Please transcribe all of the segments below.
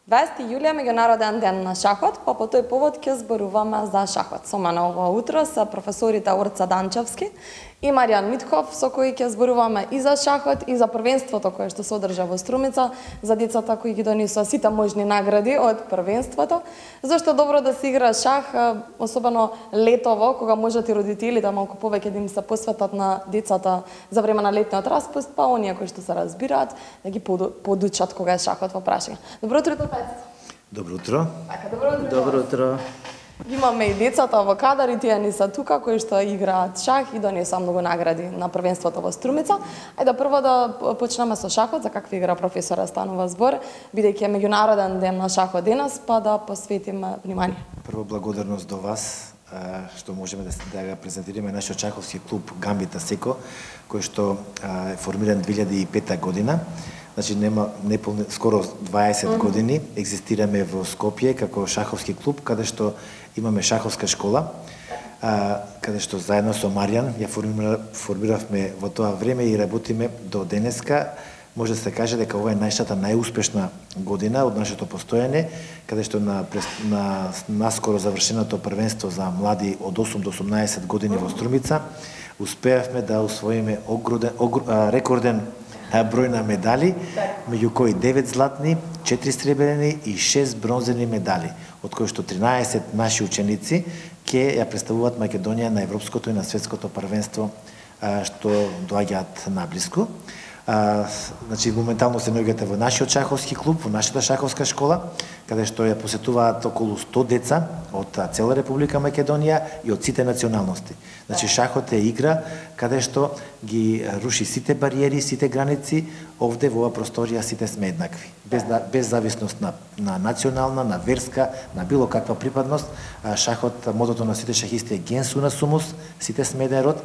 20 јули е меѓународен ден на шахот, па по тој повод ќе зборуваме за шахот. Со мене ова утро се професорите Орца Данчевски и Маријан Митков, со кои ќе зборуваме и за шахот и за првенството кое што се одржа во Струмица, за децата кои ги донесоа сите можни награди од првенството. Зашто е добро да се игра шах, особено летово, кога можат и родителите малку повеќе да им се посветат на децата за време на летниот распуст, па оние кои што се разбираат да ги подучат кога е шахот во прашање. Добро утро, Петко. Добро утро. Добро утро. Имаме и децата во кадар и тие ни се тука кои што играат шах и донесоа многу награди на првенството во Струмица. Ајде прво да почнеме со шахот, за каква игра професора станува збор, бидејќи е меѓународен ден на шахот денес, па да посветиме внимание. Прво благодарност до вас што можеме да го презентираме нашиот шаховски клуб Гамбит Асеко, кој што е формиран 2005 година. Значи скоро 20 години екзистираме во Скопје како шаховски клуб, каде што имаме шаховска школа, каде што заедно со Маријан ја формиравме во тоа време и работиме до денеска. Може да се каже дека ова е најуспешна година од нашето постојање, каде што на наскоро завршеното првенство за млади од 8 до 18 години во Струмица успеавме да усвоиме рекорден број на медали, меѓу кои 9 златни, 4 сребрени и 6 бронзени медали, од кои што 13 наши ученици ќе ја представуваат Македонија на европското и на светското првенство што доаѓаат наблиску. Значи, моментално се наоѓате во нашиот шаховски клуб, во нашата шаховска школа, каде што ја посетуваат околу 100 деца од цела Република Македонија и од сите националности. Значи, шахот е игра каде што ги руши сите бариери, сите граници, овде во оваа просторија сите сме еднакви. Без зависност на национална, на верска, на било каква припадност. Шахот, мотото на сите шахисти е gens una sumus, сите сме еден род.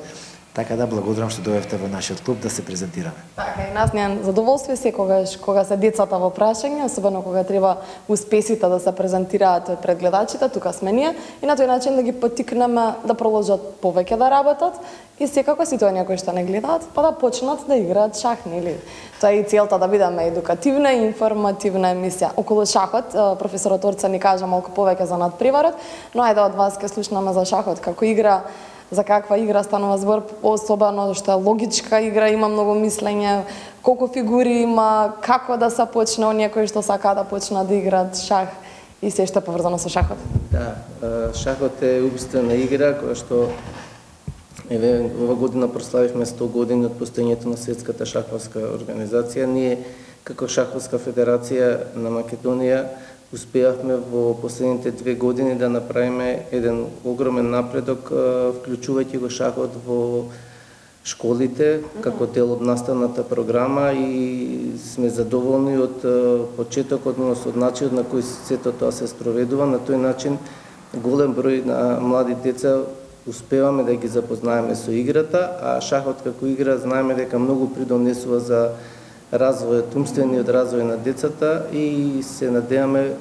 Така да благодарам што дојдовте во нашиот клуб да се презентираме. Така и нас ни е задоволство секогаш кога се децата во прашање, особено кога треба успесите да се презентираат пред гледачите, тука сме ние и на тој начин да ги поттикнеме да продолжат повеќе да работат и секако сите оние кои што не гледаат, па да почнат да играат шах, нели? Тоа е и целта да бидеме едукативна и информативна емисија. Околу шахот, професорот Орца ни кажа малку повеќе за надпреварот, но ајде од вас ќе слушнеме за шахот како игра. За каква игра станува збор, особено што е логичка игра, има многу мислење, колку фигури има, како да се почне оние кои што сакаат да почнат да играат шах и се што е поврзано со шахот. Да, шахот е убствена игра која што ова година прославивме 100 години од постоењето на Светската шаховска организација. Ние како Шаховска федерација на Македонија успеавме во последните 2 години да направиме еден огромен напредок, вклучувајќи го шахот во школите како дел од наставната програма и сме задоволни од почетокот, односно од начинот на кој сето тоа се спроведува. На тој начин голем број на млади деца успеваме да ги запознаеме со играта, а шахот како игра знаеме дека многу придонесува за развојот, умствениот развој на децата и се надеваме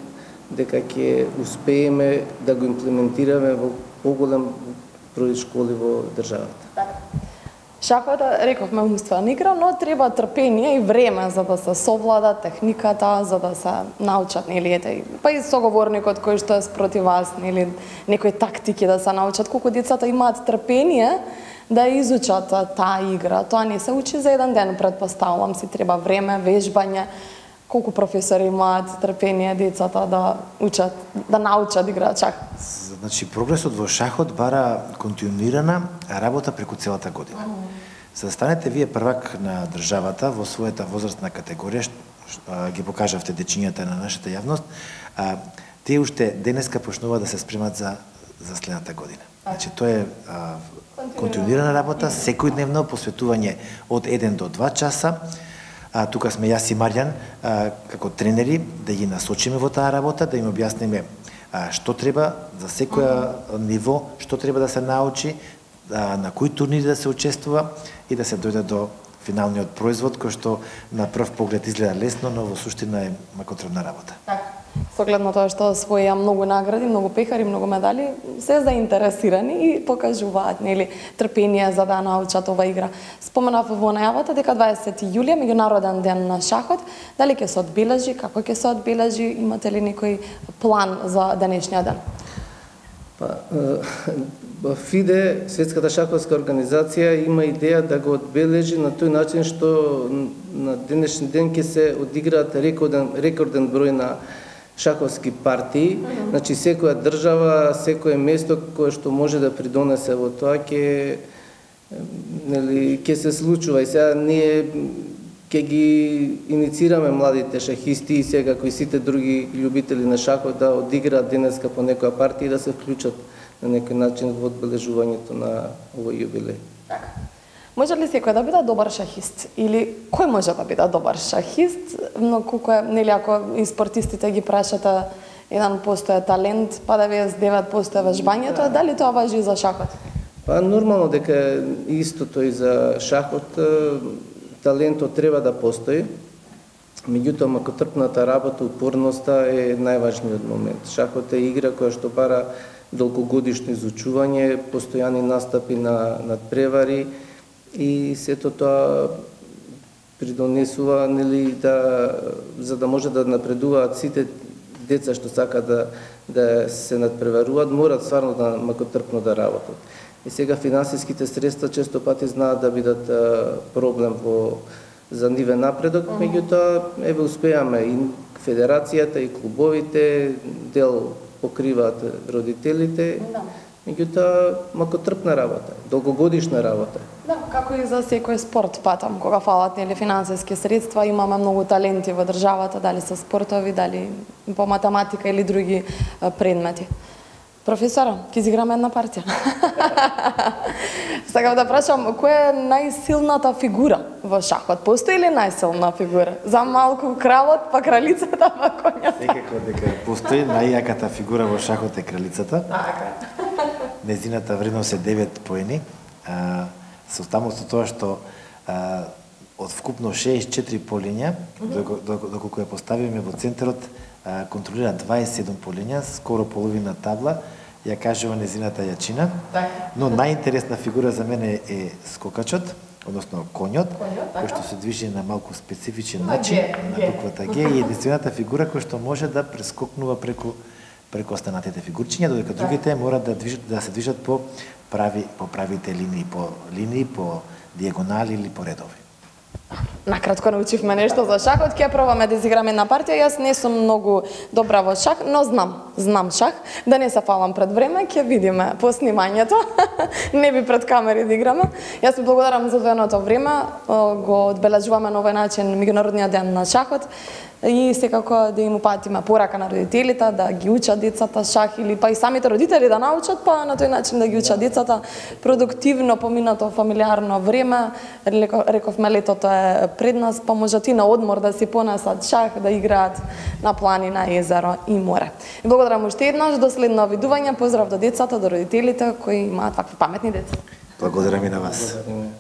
дека ќе успееме да го имплементираме во поголем број школи во државата. Шахот, рековме, умствена игра, но треба трпение и време за да се совлада техниката, за да се научат, нели, па и соговорникот кој што е спротив вас, нели, некои тактики да се научат, колку децата имаат трпение да изучат таа игра. Тоа не се учи за еден ден, предпоставувам си, треба време, вежбање. Колку професори имаат трпение децата да учат, да научат да играат шах? Значи, прогресот во шахот бара континуирана работа преку целата година. За да станете вие првак на државата во својата возрастна категорија, ги покажавте дечињата на нашата јавност, тие уште денеска почнува да се спремат за следната година. Значи, тоа е континуирана работа, секојдневно посветување од 1 до 2 часа. Тука сме јас и Маријан како тренери да ги насочиме во таа работа, да им објасниме што треба за секоја ниво, што треба да се научи, на кои турнири да се учествува и да се дојде до финалниот производ кој што на прв поглед изгледа лесно, но во суштина е макотрудна работа. Така. Со глед на тоа што освоија многу награди, многу пехари, многу медали, се заинтересирани и покажуваат нели трпение за да научат ова игра. Споменав во најавата дека 20 јулија меѓународен ден на шахот, дали ќе се одбележи, како ќе се одбележи, имате ли некој план за денешниот ден? ФИДЕ, Светската шаховска организација, има идеја да го одбележи на тој начин што на денешен ден ќе се одиграат рекорден број на шаховски партии. Значи секоја држава, секое место кое што може да придонесе во тоа ќе се случува. И сега ние ќе ги иницираме младите шахисти и сега кои сите други љубители на шахот да одиграат денеска по некоја партија и да се вклучат на некој начин во одбележувањето на овој јубилеј. Може ли секој да биде добар шахист? Или кој може да биде добар шахист? Но колку е, нели, ако и спортистите ги прашате 1% е талент, па 99% е вежбањето, дали тоа важи и за шахот? Нормално дека истото и за шахот, талентот треба да постои. Меѓутоа, макотрпната работа, упорноста е најважниот момент. Шахот е игра која што бара долгогодишно изучување, постојани настапи на надпревари и сето тоа придонесува, нели, за да може да напредуваат сите деца што сакаат да се надпреваруваат, морат стварно макотрпно да работат. И сега финансиските средства често пати знаат да бидат проблем за нивен напредок, меѓутоа еве успеаме и федерацијата и клубовите, дел покриваат родителите, меѓутоа макотрпна работа, долгогодишна работа. Да, како и за секој спорт патам, кога фалат нели финансиски средства, имаме многу таленти во државата, дали се спортови, дали по математика или други предмети. Професора, ќе изиграме една партија. Сакам да прашам, која е најсилната фигура во шахот? Постои ли најсилна фигура? За малку кралот, па кралицата, па коњата? Секако дека постои најјаката фигура во шахот е кралицата. Незината вредност е 9 поени. Со таму со тоа што од вкупно 64 полиња, доколку ја поставиме во центарот, контролира 27 полиња, скоро половина табла, ја кажува незината јачина. Но најинтересна фигура за мене е скокачот, односно конјот, кој што се движи на малку специфичен начин, на буквата Г, и единствената фигура која што може да прескокнува преку останатите фигурчиња, додека другите мора да се движат по правите линии, по дијагонали или по редови. Накратко научивме нешто за шахот, ќе пробаме да изиграме една партија. Јас не сум многу добра во шах, но знам шах. Да не се фалам пред време, ќе видиме по снимањето. Не би пред камери да играме. Јас ви благодарам за одвоеното време. Го одбележуваме на овој начин меѓународниот ден на шахот. И секако да им упатиме порака на родителите да ги учат децата шах или па и самите родители да научат, па на тој начин да ги учат децата продуктивно поминато фамилиарно време. Рековме летото е пред нас, па можат и на одмор да си понесат шах, да играат на планина, езеро и море. И благодарам уште еднаш, до следно видување, поздрав до децата, до родителите кои имаат вакви паметни деца. Благодарам и на вас. Благодарим.